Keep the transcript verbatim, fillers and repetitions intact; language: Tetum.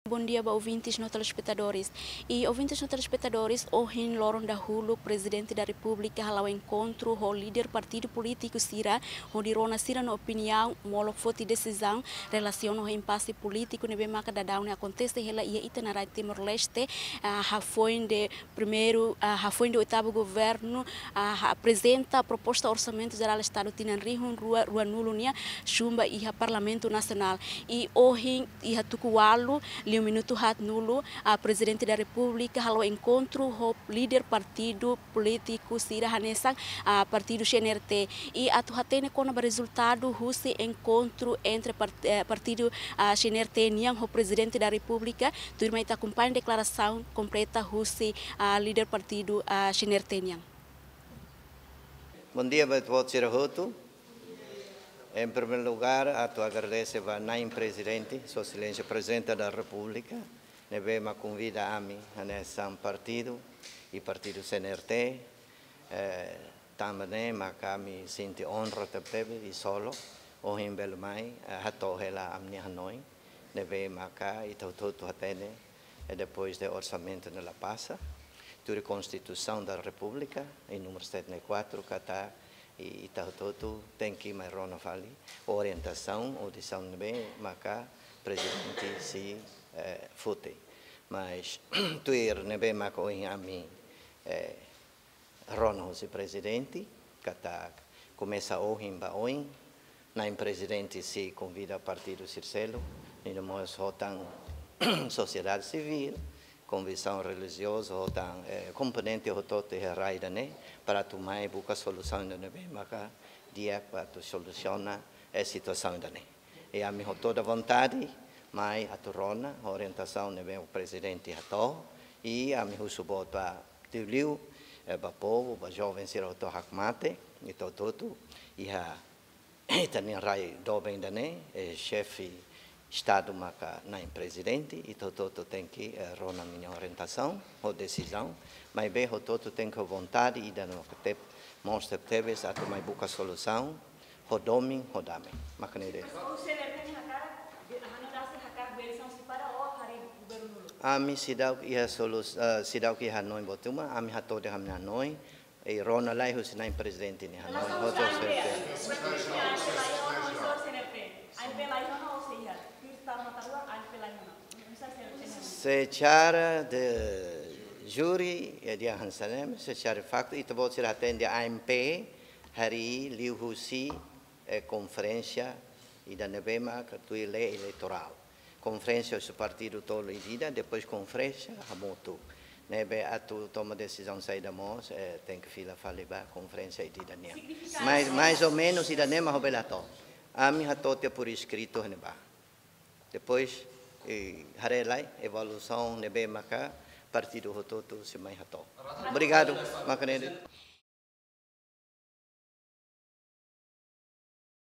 Bondia ba ouvintes no telespetadores. I ouvintes no telespetadores, ohin loron dahuluk Prezidente da Repúblika hala'o enkontru ho líder partidu polítiku sira, hodi rona sira-nia opiniaun, molok foti desizaun relasiona ho impase polítiku ne'ebé maka daudaun ne'e akontese hela iha ita-nia rai Timor-Leste, ah, hafoin de primeiru, ah, hafoin de oitavu governu, ah, aprezenta proposta Orsamentu Jerál Estadu tinan rihun rua, ruanulu nian, xumba iha Parlamentu Nasionál. I ohin iha tuku ualu, liu minutu haatnulu, ah, Prezidente da Repúblika hala'o enkontru ho líder partidu polítiku sira hanesan, ah, partidu C N R T. I atu hatene kona-ba rezultadu husi enkontru entre part-, eh, partidu, ah, C N R T nian ho Prezidente da Repúblika, tuirmai ita akompaña deklarasaun kompleta husi, ah, líder partidu, ah, C N R T nian. Bondia ba ita-boot sira hotu. Em primeiro lugar, atu agradese ba Na'in Prezidente, Sua Exelénsia Prezidente da Repúblika, ne'ebé mak konvida ami hanesan partidu, i partidu C N R T, eh, tanba ne'e maka ami sente onra tebetebes i solo, ohin bele mai, eh, hato'o hela ami-nia hanoin, ne'ebé maka ita hotu-hotu hatene, eh, depois de orsamentu ne'e la pasa, tuir Konstituisaun da Repúblika, i númeru setenta e quatro, katak, i ita hotu-hotu tenke mai rona fali orientasaun, ou desizaun ne'ebé maka Prezidente sei, eh, foti. Mas, tuir ne'ebé maka ohin ami, eh, rona husi Prezidente, katak komesa ohin ba oin, Na'in Prezidente sei konvida partidu sira seluk, i no mós ho tan sosiedade sivíl, konviksaun relijioza, ho tan, eh, komponente hotu-hotu iha rai ida-ne'e, para atu mai buka solusaun ida ne'ebé maka di'ak para atu solusiona, eh, situasaun ida-ne'e. I ami ho toda vontade mai atu rona orientasaun ne'ebé Prezidente hato'o, i ami husu boot ba liuliu, eh, ba povu, ba joven sira hotu hakmatek, ita hotu-hotu iha ita-nia rai doben ida-ne'e, eh, Xefe Estadu maka Na'in Prezidente, ita hotu-hotu tenke, eh, rona ninia orientasaun, ho desizaun, maibé hotu-hotu tenke ho vontade ida no ketep, mós tebetebes atu mai buka solusaun, ho domin, ho dame. Maka ne'e de'it. Mas o C N R T nia hakarak, de, hanoin rasik hakarak bele são separa ou harii governu uluk? Ami seidauk iha solus-, eh, seidauk iha hanoin boot ruma, ami hato'o de'it ami-nia hanoin, i rona lai husi Na'in Prezidente nia hanoin. Mas hotu o C N R T. Serve. Secara de júri, eh, dehan hanesan ne'e, secara faktu, ita-boot sira hatene AMP, harii liuhusi, eh, konferénsia ida ne'ebé maka tuir lei eleitorál. Konferénsia husi partidu tolu ida-idak, depois konferénsia hamutuk. Ne'ebé atu toma desizaun saida mós, eh, tenke fila fali ba konferénsia ida-idak nian. Significa mais, mais ou menos ida-ne'e mak ha'u bele hato'o. Ami hato'o tiha por escrito iha ne'ebá. Depois, eh, haree lai evolusaun ne'ebé maka partidu hotu-hotu sei mai hato'o. Obrigadu, maka ne'e de'it.